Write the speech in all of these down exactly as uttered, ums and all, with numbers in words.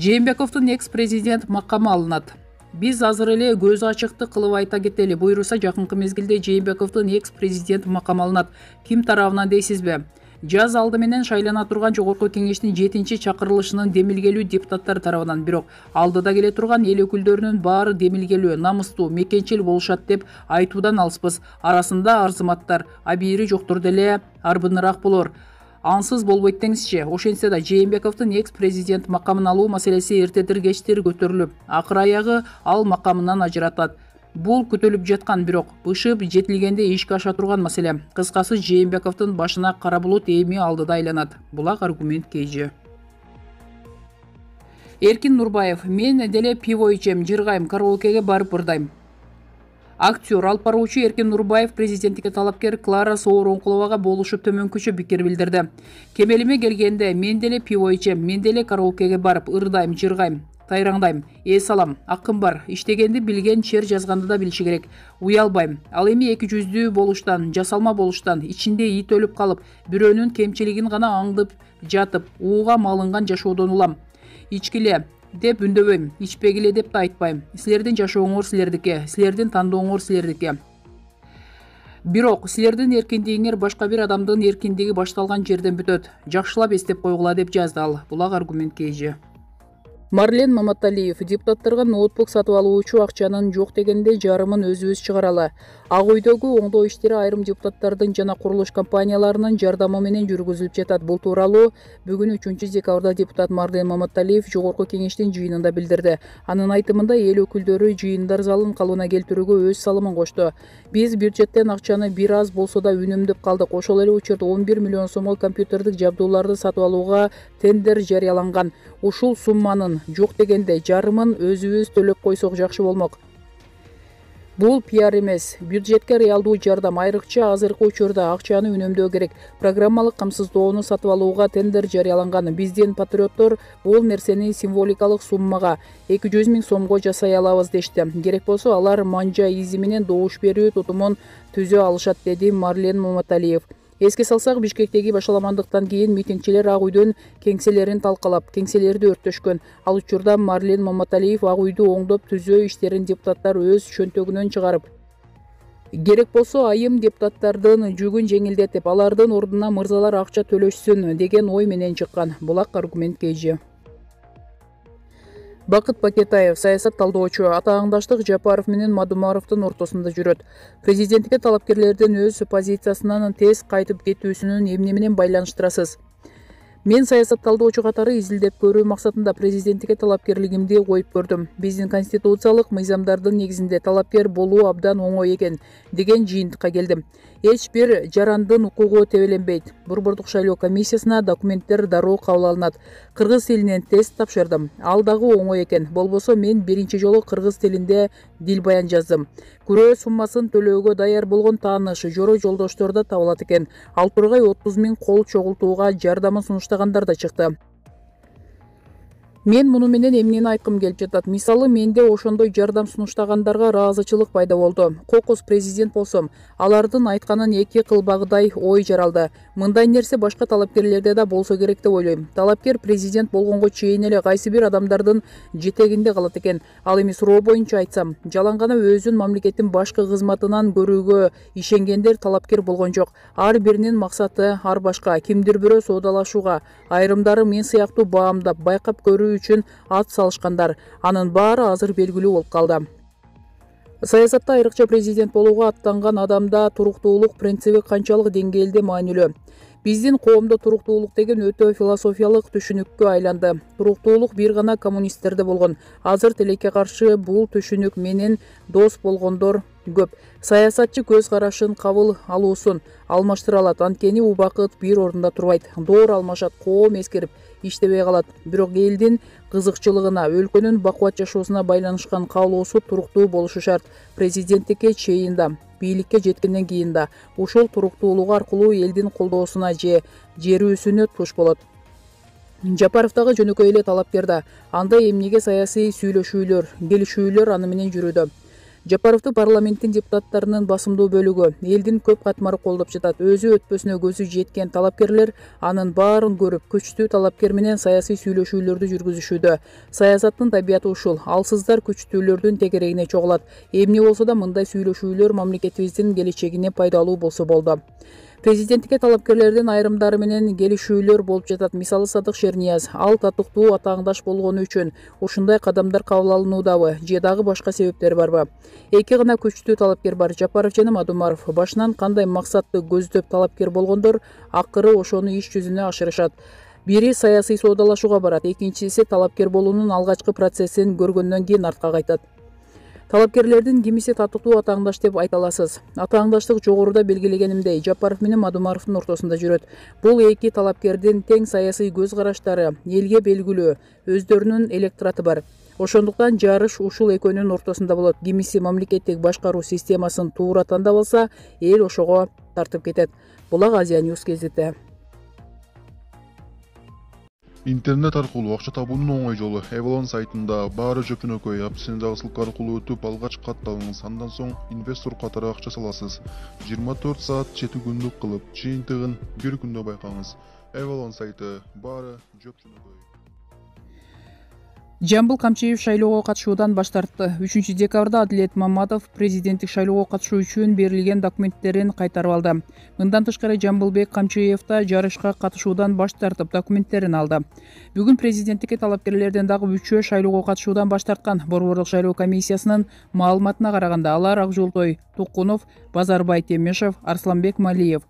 Жээнбековдун экс-президент макамы алынат. Биз азыр эле көз ачыкты кылып айта кетели. Буйруса жакынкы мезгилде Жээнбековдун экс-президент макамы алынат. Ким тарабынан дейсизби? Жаз алды менен шайлана турган Жогорку Кеңештин жетинчи чакырылышынын демилгелүү депутаттар тарабынан, бирок алдыда келе турган эл өкүлдөрүнүн баары демилгелүү, намыстуу, мекенчил болушат деп айтуудан алыспыз. Арасында арзыматтар, абийири жоктор деле арбыныраак болор. Ансыз болбойт деңизчи. Ошентсе да Жээнбековдун экс-президент макамын алуу маселеси эртедир кечтир көтөрүлүп, акыр аягы ал макамынан ажыратат. Бул күтүлүп жаткан, бирок бышып жетилгенде ишке аша турган маселе. Кыскасы, Жээнбековдун башына кара булут эми алдыда айланат. Булак аргумент кейжи. Эркин Нурбаев: мен деле пиво ичем, жыргайм, караокеге барып ырдайм. Актер, алып баруучу Эркин Нурбаев президенттикке талапкер Клара Сооронкуловага болушуп төмөнкүчө пикир билдирди. Кемелиме келгенде, мен деле пиво ичем, мен деле караокеге барып ырдайм, жыргайм, тайраңдайм, эс алам, акым бар, иштегенди билген чер жазганды да билиши керек. Уялбайм. Ал эми эки жүздүү болуштан, жасалма болуштан, ичинде ит өлүп калып, бирөөнүн кемчилигин гана аңдып жатып, ууга малынган жашоодон улам. Ичкиле деп үндөбөйм, ичпегиле деп да айтпайм. Силердин жашооңор силердики, силердин тандооңор силердики. Бирок силердин эркиндигиңер башка бир адамдын эркиндиги башталган жерден бүтөт. Жакшылап эстеп койгула деп жазды ал. Булак аргумент кейжи. Марлен Маматалиев: депутаттарга ноутбук сатып алуучу акчанын жок дегенде жарымын өзүбүз чыгаралы. Ак үйдөгү оңдоо иштери айрым депутаттардын жана курулуш компанияларынын жардамы менен жүргүзүлүп жатат. Бул тууралуу бүгүн үчүнчү декабрда депутат Марлен Маматалиев Жогорку Кеңештин жыйынында билдирди. Анын айтымында, эл өкүлдөрү жыйындар залын калыбына келтирүүгө өз салымын кошту. Биз бюджеттен акчаны бир аз болсо да үнөмдөп калдык. Ошол эле учурда он бир миллион сомго компьютердик жабдууларды сатып алууга тендер жарыяланган. Ушул сумманын жок дегенде жарымын өзүбүз төлөп койсок жакшы болмок. Бул пиар эмес. Бюджетке реалдуу жардам, айрыкча азыркы учурда акчаны үнөмдөө керек. Программалык камсыздоону сатып алууга тендер жарыяланган. Биздин патриоттор бул нерсени символикалык суммага эки жүз миң сомго жасай алабыз дешти. Керек болсо алар манжа изи менен добуш берүү тутумун түзө алышат, деди Марлен Маматалиев. Эске салсак, Бишкектеги башаламандыктан кийин митингчилер Ак үйдүн кеңселерин талкалап, кеңселерди өрттөшкөн. Ал учурда Марлен Маматалиев Ак үйдү оңдоп түзөө иштерин депутаттар өз чөнтөгүнөн чыгарып, керек болсо айым депутаттардын жүгүн жеңилдетип, алардын ордуна мырзалар акча төлөшсүн деген ой менен чыккан. Булак аргумент кейжи. Бакыт Бакетаев: саясат талдоочу, атааңдаштык Жапаров менен Мадумаровдун ортосунда жүрөт. Президенттикке талапкерлердин өз позициясынан тез кайтып кетүүсүнүн эмне менен байланыштырасыз? Мен саясат талдоочу катары изилдеп көрүү максатында президенттикке талапкерлигимди коюп көрдүм. Биздин конституциялык мыйзамдардын негизинде талапкер болуу абдан оңой экен деген жыйынтыкка келдим. Эч бир жарандын укугу тебеленбейт. Борбордук шайлоо комиссиясына документтер дароо кабыл алынат. Кыргыз тилинен тест тапшырдым. Ал дагы оңой экен. Болбосо мен биринчи жолу кыргыз тилинде дил баян жаздым. Күрөө суммасын төлөөгө даяр болгон тааныш, жора жолдоштор да табылат экен. Ал тургай отуз миң кол чогултууга жардамын сунуштагандар да чыкты. Мен муну менен эмнени айткым келип жатат? Мисалы, менде ошондой жардам сунуштагандарга ыраазычылык пайда болду. Кокус президент болсом, алардын айтканын эки кылбагыдай ой жаралды. Мындай нерсе башка талапкерлерде да болсо керек деп ойлойм. Талапкер президент болгонго чейин эле кайсы бир адамдардын жетегинде калат экен. Ал эми суроо боюнча айтсам, жалаң гана өзүн мамлекеттин башкы кызматынан көрүүгө ишенгендер талапкер болгон жок. Ар биринин максаты ар башка. Кимдир бирөө соодалашууга, айрымдары мен сыяктуу баамдап, байкап көрүү үчүн ат салышкандар. Анын баары азыр белгилүү болуп калды. Саясатта айрыкча президент болууга аттанган адамда туруктуулук принциби канчалык деңгээлде маанилүү? Биздин коомдо туруктуулук деген өтө философиялык түшүнүккө айланды. Туруктуулук бир гана коммунисттерде болгон. Азыр тилекке каршы бул түшүнүк менен дос болгондор көп. Саясатчы көз карашын кабыл алуусун алмаштыра алат. Анткени убакыт бир ордунда турбайт. Доор алмашат, коом эскерип иштебей калат. Бирок элдин кызыкчылыгына, өлкөнүн бакубат жашоосуна байланышкан каалоосу туруктуу болушу шарт. Президенттикке чейин да, бийликке жеткенден кийин да ушул туруктуулугу аркылуу элдин колдоосуна же жерүүсүнө туш болот. Жапаров дагы жөнөкөй эле талапкер да. Анда эмнеге саясий сүйлөшүүлөр, келишүүлөр аны менен жүрүүдө? Жапаровду парламенттин депутаттарынын басымдуу бөлүгү, элдин көп катмары колдоп жатат. Өзү өтпөсүнө көзү жеткен талапкерлер анын баарын көрүп, күчтүү талапкер менен саясий сүйлөшүүлөрдү жүргүзүшүүдө. Саясаттын табияты ушул. Алсыздар күчтүүлөрдүн тегерегине чогулат. Эмне болсо да мындай сүйлөшүүлөр мамлекетибиздин келечегине пайдалуу болсо болду. Президенттикке талапкерлердин айрымдары менен келишүүлөр болуп жатат. Мисалы Садык Шернияз, ал татыктуу атаандаш болгону үчүн ушундай кадамдар кабыл алынуудабы же дагы башка себептер барбы? Эки гана күчтүү талапкер бар, Жапаров жана Мадумаров. Башынан кандай максатты көздөп талапкер болгондор акыры ошону иш жүзүнө ашырышат. Бири саясий соодалашууга барат, экинчиси талапкер болуунун алгачкы процессин көргөндөн кийин артка кайтат. Талапкерлердин кимиси татыктуу атаандаш деп айта аласыз. Атаандаштык жогоруда белгилегенимдей Жапаров менен Мадумаровдун ортосунда жүрөт. Бул эки талапкердин тең саясий көз караштары, элге белгилүү, өздөрүнүн электораты бар. Ошондуктан жарыш ушул экөөнүн ортосунда болот. Кимиси мамлекеттик башкаруу системасын туура тандап алса, эл ошого тартып кетет. Булак Азия News кезети. Интернет аркылуу акча табуунун оңой жолу. Avalon сайтында баары жөпүнөкөй, апсен дагы ссылка аркылуу өтүп, алгач катталыңыз. Андан соң инвестор катары акча саласыз. жыйырма төрт саат жети күндүк кылып, жыйынтыгын бир күндө байкаңыз. Avalon сайты баары жөпүнөкөй. Жамбыл Камчиев шайлоого катышуудан баш тартты. үчүнчү декабрда Адилет Маматов президенттик шайлоого катышуу үчүн берилген документтерин кайтарып алды. Мындан тышкары Жамбылбек Камчиев да жарышка катышуудан баш тартып, документтерин алды. Бүгүн президенттикке талапкерлерден дагы үчөө шайлоого катышуудан баш тарткан. Борбордук шайлоо комиссиясынын маалыматына караганда, алар Акжолтой Тукунов, Базарбай Темешев, Арсланбек Малиев.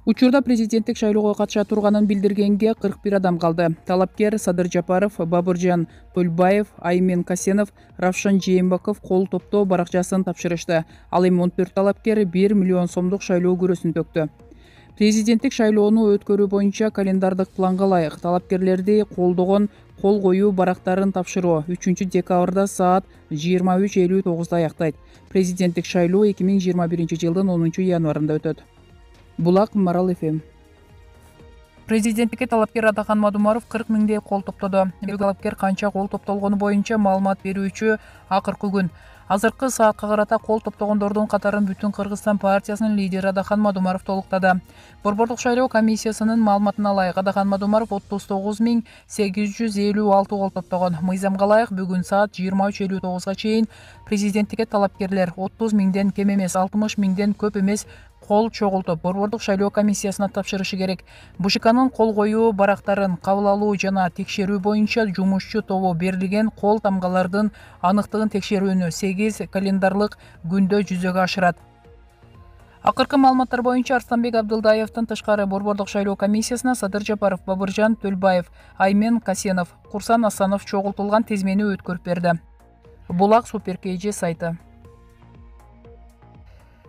Учурда президенттик шайлоого катыша турганын билдиргенге кырк бир адам калды. Талапкер Садыр Жапаров, Бабыржан Тольбаев, Аймен Касенов, Равшан Жээнбеков кол топтоо баракчасын тапшырышты. Ал эми он төрт талапкер бир миллион сомдук шайлоо күрөсүн төктү. Президенттик шайлоону өткөрүү боюнча календардык планга ылайык талапкерлерди колдогон кол коюу барактарын тапшыруу үчүнчү декабрда саат жыйырма үч элүү тогузда аяктайт. Президенттик шайлоо эки миң жыйырма биринчи жылдын онунчу январында өтөт. Булак Марал эф эм. Президенттикке талапкер Атахан Мадумаров кырк миңдей кол топтоду. Талапкер канча кол топтолгону боюнча маалымат берүүчү акыркы күн. Азыркы саатка карата кол топтогондордун катарын Бүтүн Кыргызстан партиясынын лидери Атахан Мадумаров толуктады. Борбордук шайлоо комиссиясынын маалыматына ылайык Атахан Мадумаров отуз тогуз миң сегиз жүз элүү алты кол топтогон. Мыйзамга ылайык бүгүн саат жыйырма үч элүү тогузга чейин президенттикке талапкерлер отуз миңден кем эмес, алтымыш миңден көп эмес кол чогултуп, борбордук шайлоо комиссиясына тапшырышы керек. БШКнын кол коюу барактарын кабыл алуу жана текшерүү боюнча жумушчу тобу берилген кол тамгалардын аныктыгын текшерүүнү сегиз календарлык күндө жүзөгө ашырат. Акыркы маалыматтар боюнча Арсланбек Абдылдаевдин тышкары борбордук шайлоо комиссиясына Садыр Жапаров, Бабыржан Тольбаев, Аймен Касенов, Курсан Асанов чогултулган тизмени өткөрүп берди. Булак Супер Кей Жи сайты.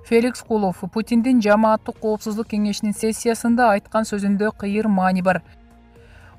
Феликс Кулов Путиндин жамааттык коопсуздук кеңешинин сессиясында айткан сөзүндө кыйыр маани бар.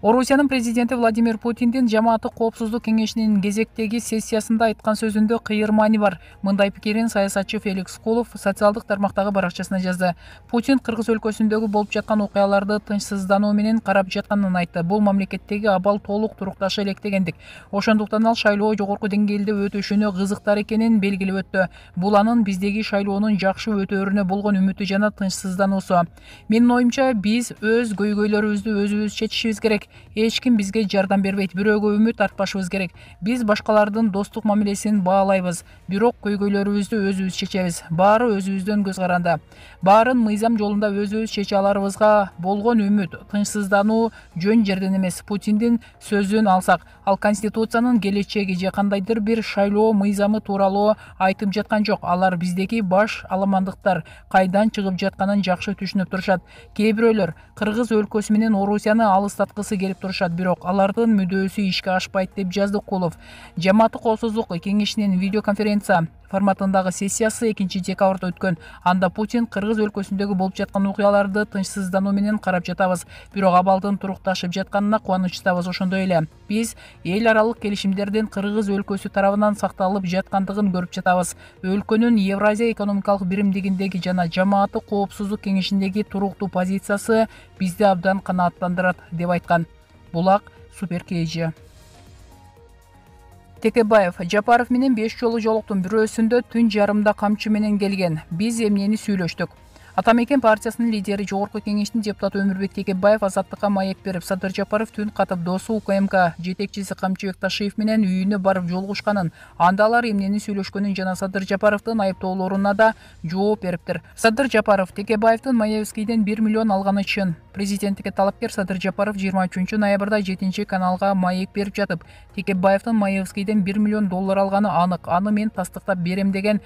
Орусиянын президенти Владимир Путиндин жамааттык коопсуздук кеңешинин кезектеги сессиясында айткан сөзүндө кыйыр маани бар. Мындай пикирин саясатчы Феликс Кулов социалдык тармактагы баракчасына жазды. Путин Кыргыз өлкөсүндөгү болуп жаткан окуяларды тынчсыздануу менен карап жатканын айтты. Бул мамлекеттеги абал толук турукташы элек дегендик. Ошондуктан ал шайлоо жогорку деңгээлде өтүшүнө кызыктар экенин белгилеп өттү. Бул анын биздеги шайлоонун жакшы өтөөрүнө болгон үмүтү жана тынчсыздануусу. Менин оюмча, биз өз көйгөйлөрүбүздү өзүбүз чечишибиз керек. Эч ким бизге жардам бербейт, бирөөгө үмүт артпашыбыз керек. Биз башкалардын достук мамилесин баалайбыз, бирок көйгөйлөрүбүздү өзүбүз чечебиз. Баары өзүбүздөн көз каранды. Баарын мыйзам жолунда өзүбүз чече аларыбызга болгон үмүт, тынчсыздануу жөн жерден эмес. Путиндин сөзүн алсак, ал конституциянын келечеги же кандайдыр бир шайлоо мыйзамы тууралуу айтып жаткан жок. Алар биздеги баш аламандыктар кайдан чыгып жатканын жакшы түшүнүп турушат. Кээ бирөөлөр Кыргыз өлкөсү менен Орусияны алыстаткысы келип турушат, бирок алардын мүдөөсү ишке ашпайт деп жазды Кулов. Жамааттык коопсуздук кеңешинин видеоконференция форматындагы сессиясы экинчи декабрда өткөн. Анда Путин Кыргыз өлкөсүндөгү болуп жаткан окуяларды тынчсыздануу менен карап жатабыз, бирок абалдын турукташып жатканына кубанычтабыз. Ошондой эле биз эл аралык келишимдердин Кыргыз өлкөсү тарабынан сакталып жаткандыгын көрүп жатабыз. Өлкөнүн Евразия экономикалык биримдигиндеги жана жамааттык коопсуздук кеңешиндеги туруктуу позициясы бизди абдан канааттандырат, деп айткан. Булак Супер Кей Жи. Текебаев Жапаров менен беш жолу жолуктум, бирөөсүндө түн жарымда камчы менен келген. Биз эмнени сүйлөштүк. Атамекен партиясынын лидери, жогорку кеңештин депутаты Өмүрбек Текебаев Азаттыкка маек берип, Садыр Жапаров түн катып досу УКМК жетекчиси Камчыбек Ташиев менен үйүнө барып жолугушканын, анда алар эмнени сүйлөшкөнүн жана Садыр Жапаровдун айыптоолоруна да жооп бериптир. Садыр Жапаров Текебаевдин Маевскийден бир миллион алганы чын. Президенттикке талапкер Садыр Жапаров жыйырма үчүнчү ноябрда жетинчи каналга маек берип жатып, Текебаевдин Маевскийден бир миллион доллар алганы анык. Аны мен тастыктап берем деген.